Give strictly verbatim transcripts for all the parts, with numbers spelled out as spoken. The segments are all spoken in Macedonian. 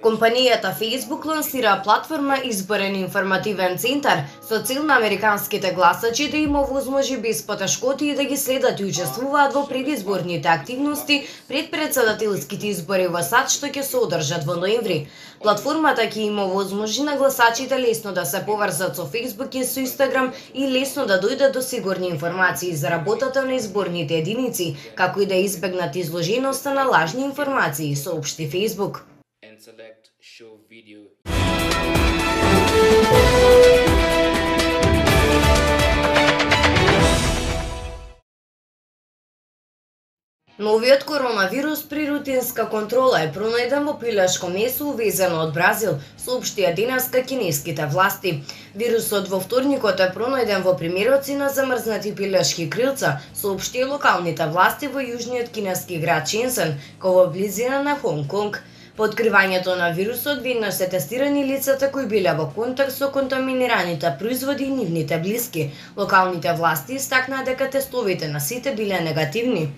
Компанијата Facebook лансира платформа Изборен информативен центар со цел на американските гласачи да им овозможи без потешкоти да ги следат и учествуваат во предизборните активности пред претседателските избори во САД што ќе се одржат во ноември. Платформата ќе им овозможи на гласачите лесно да се поврзат со Facebook и со Instagram и лесно да дојдат до сигурни информации за работата на изборните единици, како и да избегнат изложеноста на лажни информации, соопшти Facebook. Новиот коронавирус при рутинска контрола е пронајден во пилешко месо увезено од Бразил, соопштија денеска кинеските власти. Вирусот во вторникот е пронајден во примероци на замрзнати пилешки крилца, соопштија локалните власти во јужниот кинески град Шензен, кој во близина на Хонг Конг. По откривањето на вирусот веднаш се тестирани лицата кои биле во контакт со контаминираните производи и нивните блиски. Локалните власти истакнаа дека тестовите на сите биле негативни.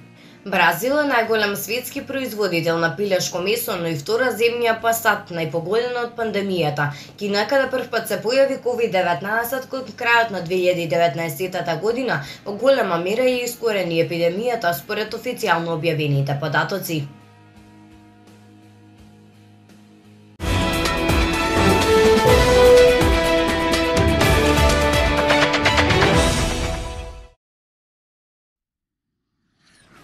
Бразил е најголем светски производител на пилешко месо, но и втора земја по САД, најпогодена од пандемијата. Кина, каде првпат се појави ковид деветнаесет кон крајот на две илјади и деветнаесетата година, во голема мера ја искорени епидемијата според официјално објавените податоци.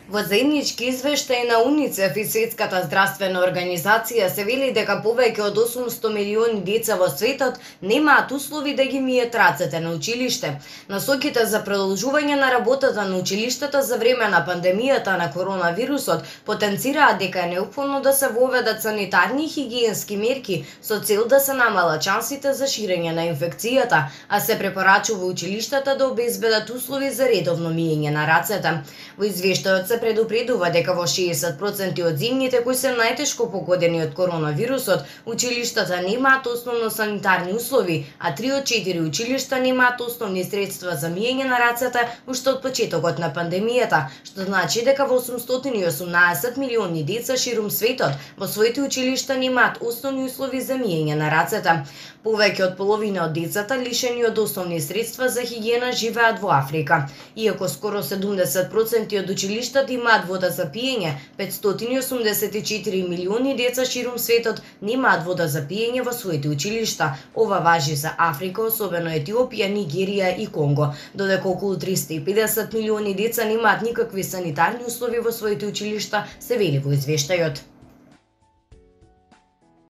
Во заеднички извештај на УНИЦЕФ и Светската здравствена организација се вели дека повеќе од осумсто милиони деца во светот немаат услови да ги мијат рацете на училиште. Насоките за продолжување на работата на училиштата за време на пандемијата на коронавирусот потенцираат дека е неопходно да се воведат санитарни и хигиенски мерки со цел да се намалат шансите за ширење на инфекцијата, а се препорачува училиштата да обезбедат услови за редовно миење на рацете. Во извештајот се предупредува дека во шеесет проценти од земјите кои се најтешко погодени од коронавирусот, училиштата немаат основно санитарни услови, а три од четири училишта немаат основни средства за миење на рацете уште од почетокот на пандемијата, што значи дека во осумстотини и осумнаесет милиони деца ширум светот во своите училишта немаат основни услови за миење на рацете. Повеќе од половина од децата лишени од основни средства за хигиена живеат во Африка. Иако скоро седумдесет проценти од училиштата имаат вода за пиење, петстотини и осумдесет и четири милиони деца ширум светот немаат вода за пиење во своите училишта. Ова важи за Африка, особено Етиопија, Нигерија и Конго, додека околу триста и педесет милиони деца немаат никакви санитарни услови во своите училишта, се вели во извештајот.